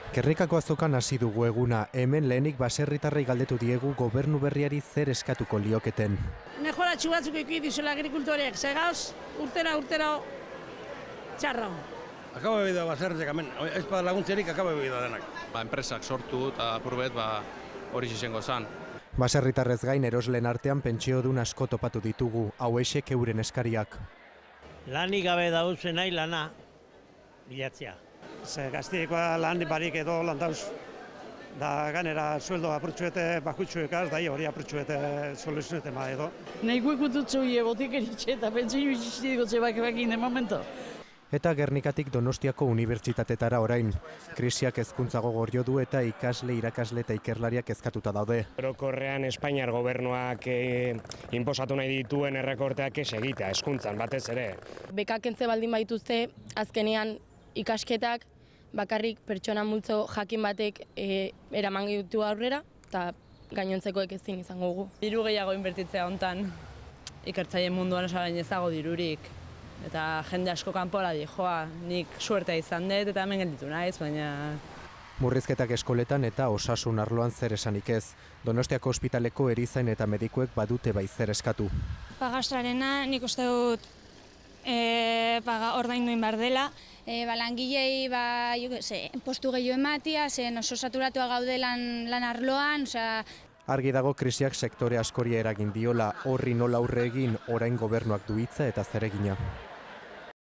Gernikako azokan hasi dugu eguna, hemen lehenik baserritarrei galdetu diegu gobernu berriari zer eskatuko lioketen. Mejoratxu batzuk eki dizuela agrikultoreak, segauz, urtera txarra. Akaba bebida baserriak hemen, ez bada laguntzerik akaba bebida denak. Enpresak sortu eta apurbet hori izango zan. Baserritarrez gain erosleen artean pentsiodun asko topatu ditugu, hauexek euren eskariak. Lanik gabe dauzen nahi lana bilatzea. Ze gaztiekoa lan barik edo lan dauz. Da ganera sueldo apurtxuete bakutxuekaz, da hori apurtxuete soluzionete ma edo. Nahiko ikututzu botik eritxe eta pentsio iziztiko zebakebakin de momento. Eta Gernikatik Donostiako unibertsitatetara orain. Krisiak hezkuntza gogor du eta ikasle, irakasle eta ikerlariak kezkatuta daude. Orokorrean Espainiar gobernuak inposatu nahi dituen errekorteak ez egitea, hezkuntzan batez ere. Bekak kentze baldin baituzte, azkenean ikasketak bakarrik pertsona multzo jakin batek eraman ditu aurrera eta gainontzekoek ezin izango dugu. Diru gehiago inbertitzea hontan, ikertzaileen munduan osagain ez dago dirurik. Eta jende asko kanpora joa, nik suertea izan dut eta hemen gelditu naiz, baina... Murrizketak eskoletan eta osasun arloan zer esanik ez. Donostiako ospitaleko erizain eta medikuek badute bai zer eskatu. Pagastrarena nik uste dut ordainduin behar dela. Langilei postu gehiago ematia, zen oso saturatua gaude lan arloan. Argi dago krisiak sektore askori eragin diola, horri nola aurre egin orain gobernuak du hitza eta zeregina.